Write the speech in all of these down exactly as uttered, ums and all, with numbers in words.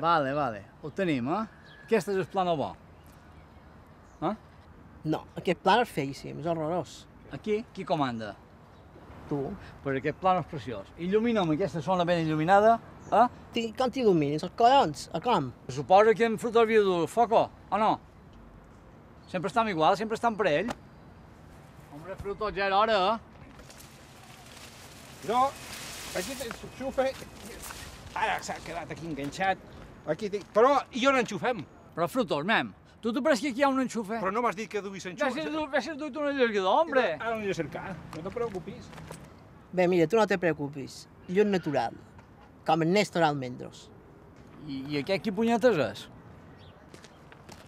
Vale, vale, ho tenim, eh? Aquest és el plano bo. Eh? No, aquest plan és feíssim, és horrorós. Aquí, qui comanda? Tu? Però aquest plano és preciós. Il·lumina'm aquesta zona ben il·luminada, eh? Ti, com t'il·lumines? Els collons? A com? Suposa que en fruta havia dur foco, o no? Sempre estem igual, sempre estem per ell. Hombre, fruto, ja era hora, eh? No, aquí s'enxufa... Ara s'ha quedat aquí enganxat. Aquí tinc... Però i on enxufem? Però frutos, mem, tu t'ho prens que aquí hi ha un enxufe? Però no m'has dit que duis enxufa. Ves a dur-te un allargador, hombre! Ara l'aniré a cercar, no te preocupis. Bé, mira, tu no te preocupis. Llum natural, com el Néstor Almendros. I, i aquest qui punyetes és?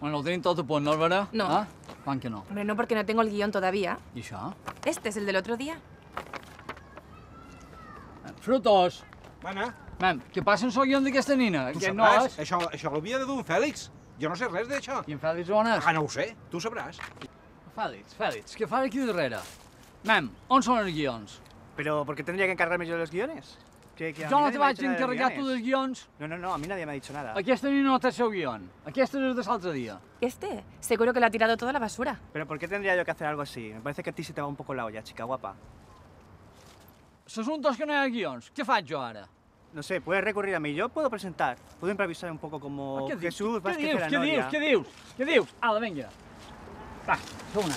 Bueno, ho tenim tot a punt, no, Álvaro? No. Ah? Quan que no? Hombre, no, porque no tengo el guión todavía. I això? Este es el del otro día. Frutos! Mana, Mem, què passa amb el guion d'aquesta nina? tu Que no sabràs, és? això, això l'havia de dur en Fèlix. Jo no sé res d'això. I en Fèlix on és? Ah, no ho sé, tu sabràs. Fèlix, Fèlix, què fas aquí darrere? Mem, on són els guions? ¿Pero por qué tendría que encargarme yo de los guiones? Que, que a Jo mí no nadie te me ha vaig dicho nada de los encarregar tu guiones. dels guions. No, no, no, a mí nadie me ha dicho nada. Aquesta nina no té el seu guion. Aquesta és de l'altre dia. Este, seguro que lo ha tirado toda la basura. ¿Pero por qué tendría yo que hacer algo así? Me parece que a ti se te va un poco la olla, chica guapa. L'assumpte és que no hi ha guions. Què faig jo ara? No sé, puedes recurrir a mí. Yo puedo presentar. Puedo improvisar un poco como Què dius? Jesús Què Vázquez dius? de la Què Noria. dius? Què dius? Què dius? Ala, vinga. Va, som una.